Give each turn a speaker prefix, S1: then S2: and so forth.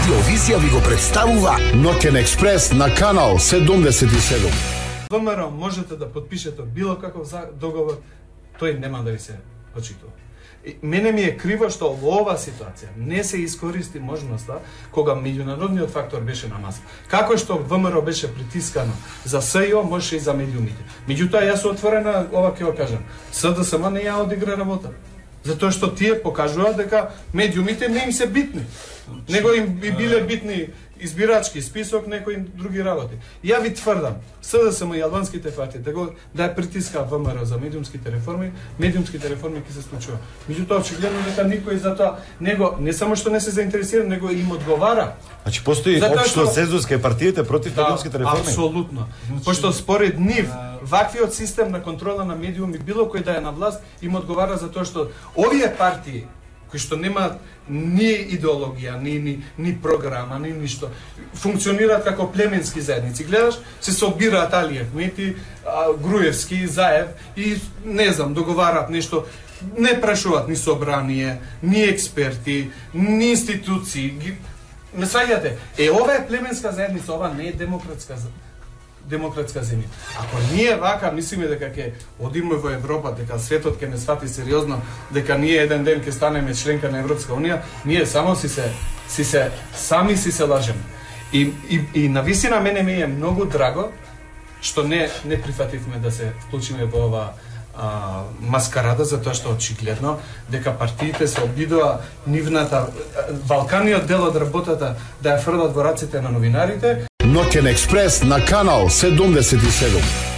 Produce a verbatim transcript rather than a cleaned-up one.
S1: Радиовизија ви го представува Ноќен експрес на канал седумдесет и седум.
S2: ВМРО можете да подпишете било каков договор, тој нема да ви се почитува. Мене ми е криво што во ова ситуација не се искористи можноста кога меѓународниот фактор беше на маса. Како што ВМРО беше притискано за СЈО, може и за медиумите. Меѓутоа јас сум отворена, ова ќе го кажам, СДСМ не ја одигра работа. Затоа што тие покажуваат дека медиумите не им се битни. Него им би биле битни избирачки список, некои други работи. Ја ви тврдам, СДСМ и албанските партии да го да ја притиска ВМРО за медиумските реформи, медиумските реформи ќе се случува. Меѓутоа очигледно дека никој за тоа него не само што не се заинтересира, него им одговара.
S3: Значи постои општо сезонска партиите против медиумските реформи.
S2: Апсолутно. Пошто според нив ваквиот систем на контрола на медиуми било кој да е на власт им одговара за тоа што овие партии кои што немаат ни идеологија, ни, ни, ни програма, ни ништо, функционираат како племенски заедници. Гледаш, се собираат Алиев, Мети, Груевски, Заев и не знам, договараат нешто, не прашуваат ни собрание, ни експерти, ни институции. Ме сваѓате? Е, ова е племенска заедница, ова не е демократска заедница. демократска земја. Ако ние вака мислиме дека ќе одиме во Европа, дека светот ќе не свати сериозно, дека ние еден ден ќе станеме членка на Европска унија, ние само си се си се сами си се лажеме. И и и навистина мене ми е многу драго што не не прифативме да се вклучиме во ова а, маскарада, затоа што очигледно дека партиите се обидува нивната валканиот дел од работата да ја фрлат во раците на новинарите.
S1: Ноќен експрес на канал седумдесет и седум.